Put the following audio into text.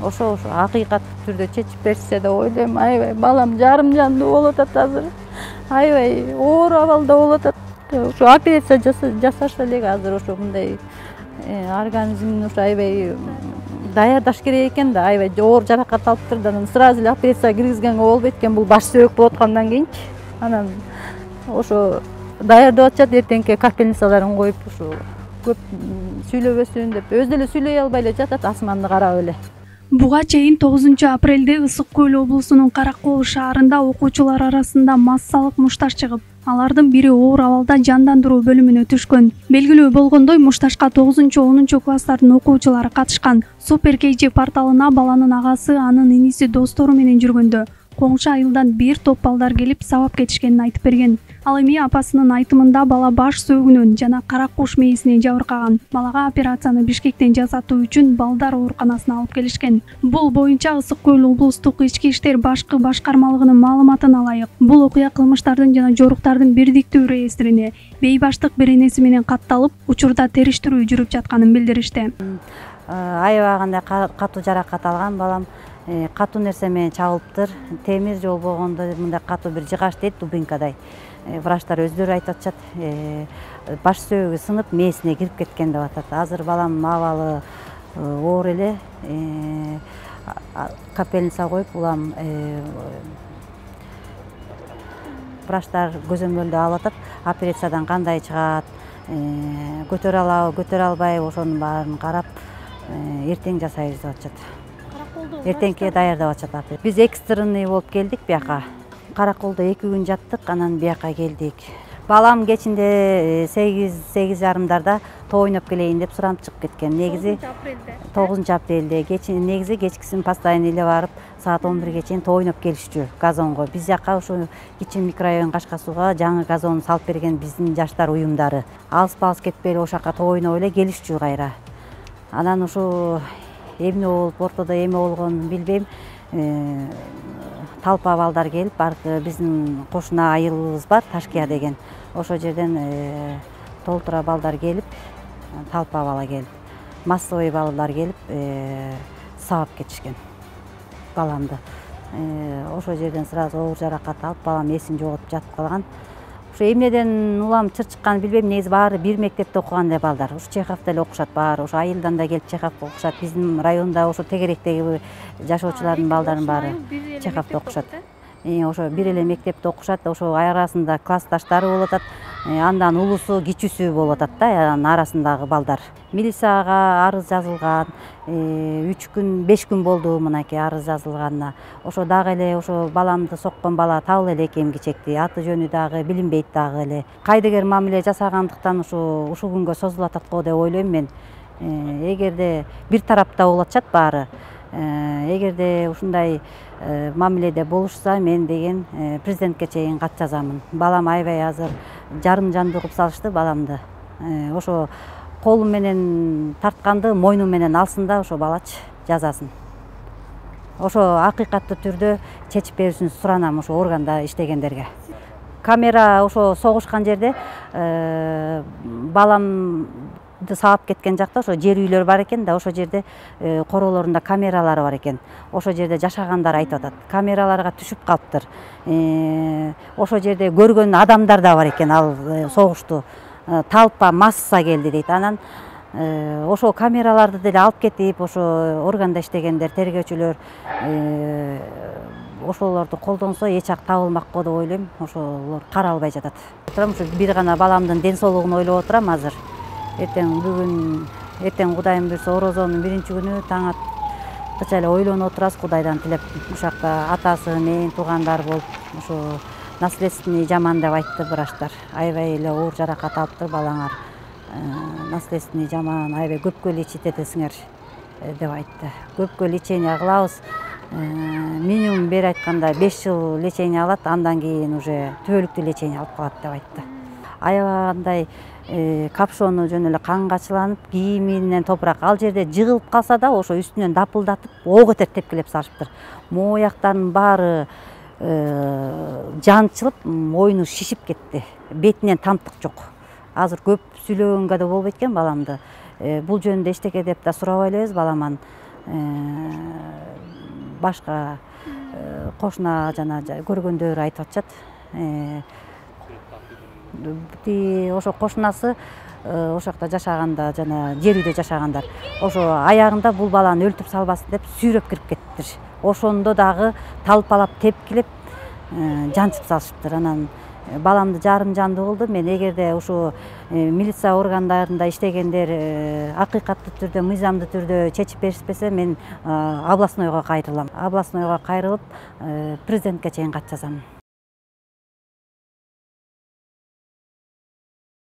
ошо акыйкаттуу түрдө чечип беришсе деп ойлойм. Аябай балам жарым жандуу болуп атат азыр. Аябай оор абалда болуп атат. Ошо операция жасашса эле азыр ошо мындай организмин ошо аябай даярдаш керек экен да, аябай оор жаракат алыптыр да, анан сразу эле операцияга киргизгенге болбойт экен, бул баш сөөк болуп аткандан кийинчи. Анан ошо даярдап атышат, эртеңки капельницаларын коюп ушу көп сүйлөбөсүн деп, өзү деле сүйлөй албай эле жатат, асманды карап эле. Буга чейин 9 апрелде Ысык Көл облусунун Каракол шаарында окуучулар арасында массалык мушташ чыгып, алардын бири оор абалда жандандыруу бөлүмүнө түшкөн. Белгилүү болгондой, мушташка 9-10 класстардын окуучулары катышкан. Супер KG порталына баланын агасы, анын иниси, достору менен жүргөндө коңшу айылдан бир топ балдар келип сабап кетишкенин айтып берген. Ал эми апасынын айтымында бала баш сөөгүнөн жана кара куш мээсинен жабыркаган. Балага операцияны Бишкектен жасатуу үчүн балдар ооруканасына алып келишкен. Бул боюнча Ысык Көл облустук ички иштер башкы башкармалыгынын маалыматына ылайык, бул окуя кылмыштардын жана жоруктардын бирдиктүү реестрине бейбаштык беренеси менен катталып, учурда териштирүү жүрүп жатканын билдиришти. Аябагандай катуу жаракат алган балам, катуу нерсе менен чабылыптыр. Темир жол болгондо мындай катуу бир жыгач дейт, дубинкадай. Врачтар өздөрү айтып атышат, баш сөөгү сынып, мээсине кирип кеткен деп атат. Азыр баламдын абалы оор эле, капельница коюп, улам врачтар көзөмөлдө алып атат. Операциядан кандай чыгат, көтөрө алабы, көтөрө албайбы, ошонун баарын карап, эртең жасайбыз деп атышат. Эртеңки даярдап атышат. Биз экстренный болуп келдик бияка. Караколдо 2 күн жаттык, анан бияка келдик. Балам кечинде 8:30 тоо ойноп келейин деп суранып чыгып кеткен. Негизи 9 апрелде негизи кечкисин постоянно эле барып, саат 11ге чейин тоо ойноп келишчү газонго. Биз жака ошо Кичин микрорайон Кашка сууга жаңы газон салып берген биздин жаштар уюмдары. Алыс кетпей эле ошака тоо ойноп эле келишчү кайра. Анан ошо эмне болуп, ортодо эме болгонун билбейм. Талпа балдар келип, биздин кошуна айылыбыз бар, Ташкия деген. Ошол жерден толтура балдар келип, талпа бала келип, массовый балдар келип, сабап кетишкен баламды. Ошол жерден сразу оор жаракат алып, балам эсин жоготуп жатып калган. Ошо эмнеден улам чырчыкканын билбейм, негизи баары бир мектепте окуган эле балдар. Ушу Чеховдо эле окушат баары, ошо айылдан да келип Чеховго окушат. Биздин районда ошо тегеректеги жашоочулардын балдарын баары Чеховдо окушат. Ошо бир эле мектепте окушат, ошо арасында классташтары болуп атат. Андан улусу, кичүүсү болуп атат да, анын арасындагы балдар. Милицияга арыз жазылган, 3 күн, 5 күн болду мынакей арыз жазылганына. Ошо дагы эле ошо баламды соккон бала табыла элек кечекти, аты жөнү дагы билинбейт дагы эле. Кайдыгер мамиле жасагандыктан ушул күнгө созулуп атат го деп ойлойм мен. Эгерде бир тарапта болуп атышат баары, эгерде ушундай мамиледе болушса, мен деген президентке чейин кат жазамын. Балам аябай азыр жарым жандуу кылып салышты баламды. Ошо колу менен тартканды мойну менен алсын да, ошо балачы жазасын. Ошо акыйкаттуу түрдө чечип беришин суранам ошо органда иштегендерге. Камера ошо согушкан жерде баламды сабап кеткен жакта ошо жер үйлөр бар экен да, ошо жерде короолорунда камералары бар экен. Ошо жерде жашагандар айтып атат. Камераларга түшүп калыптыр. Ошо жерде көргөн адамдар да бар экен, ал согушту. Талпа, масса келди дейт. Анан ошо камераларды деле алып кетип, ошо органда иштегендер, тергөөчүлөр ошолорду колдонсо эч жак табылмак го деп ойлойм. Ошолор каралбай жатат. Ошо бир гана баламдын ден соолугун ойлоп отурам азыр. Эртең Кудайым буйрса орозонун 1-күнү таң аткыча эле ойлонуп отурабыз, Кудайдан тилеп. Ушакта атасы, мен, туугандар болуп, ошо наследственный жаман деп айтты врачтар. Аябай эле оор жаракат алыптыр балаңар. Наследственный жаман, аябай көпкө лечить этесиңер деп айтты. Көпкө лечение кылабыз. Минимум бери айтканда 5 жыл лечение алат, андан кийин уже түбөлүктүү лечение алып калат деп айтты. Аябагандай капшону жөн эле каңгачыланып, кийиминен топурак. Ал жерде жыгылып калса да, ошо үстүнөн дапылдатып, ого кетип тепкилеп салышыптыр. Мояктарынын баары жанчылып, мойну шишип кетти. Бетинен тамтык жок. Азыр көп сүйлөгөнгө да болбойт экен баламды. Бул жөнүндө эчтеке деп да сурабай элебиз баламан. башка кошуна жана көргөндөр айтып атышат. Ошо кошунасы ошол жакта жашаганда жана жер үйдө жашагандар ошо аягында бул баланы өлтүрүп салбасын деп сүйрөп кирип кетиптир. Ошондо дагы талпалап тепкилеп жанчып салышыптыр. Анан баламды жарым жандуу кылды. Мен эгерде ушу милиция органдарында иштегендер акыйкаттуу түрдө, мыйзамдуу түрдө чечип беришпесе, мен областнойго кайрылам. Областнойго кайрылып президентке чейин кат жазам.